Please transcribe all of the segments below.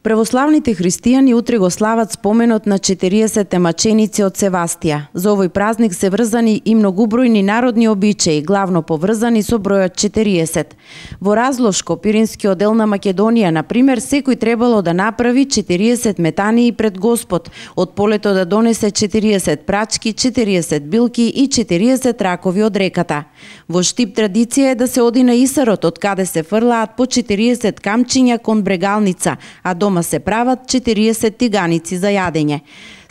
Православните христијани утре го слават споменот на 40 маченици од Севастија. За овој празник се врзани и многубројни народни обичаи, главно поврзани со бројот 40. Во Разлошко, Пиринскиот дел на Македонија, например, секој требало да направи 40 метании пред Господ, од полето да донесе 40 прачки, 40 билки и 40 ракови од реката. Во Штип традиција е да се оди на Исарот, од каде се фрлаат по 40 камчиња кон брегалница, а дома се прават 40 тиганици за јадење.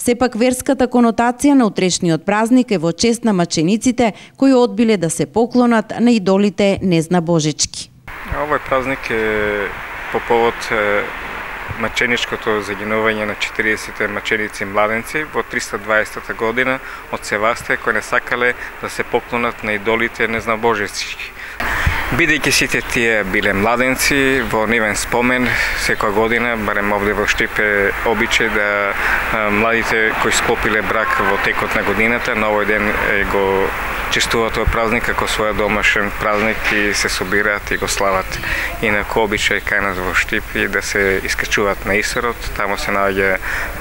Сепак верската конотација на утрешниот празник е во чест на мачениците кои одбиле да се поклонат на идолите Незна Божички. Овој празник е по повод маченичкото загинување на 40 маченици младенци во 320 година од Севастија, кои не сакале да се поклонат на идолите Незна Божички. Бидејќи сите тие биле младенци, во нивен спомен секоја година, барем овде во Штип е обичај да младите кои склопиле брак во текот на годината, на овој ден го честуваат овој празник како свој домашен празник и се собираат и го слават. Инаку обичај кај нас во Штип и да се искачуваат на Исарот, таму се наоѓа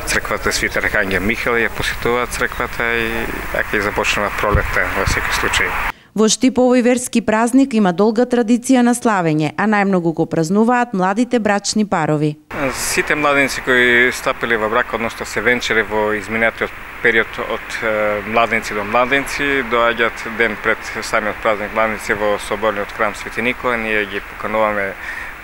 црквата Свети Архангел Михаил, ја посетуваат црквата и така и започнува пролетта во секој случај. Во Штип овој верски празник има долга традиција на славење, а најмногу го празнуваат младите брачни парови. Сите младенци кои стапиле во брак, односно се венчале во изминатиот период од младенци до младенци, доаѓаат ден пред самиот празник младенци во соборниот храм Свети Никола, ние ги покануваме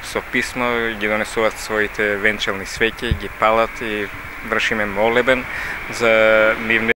со писмо, ги донесуваат своите венчални свеќи, ги палат и вршиме молебен за нивни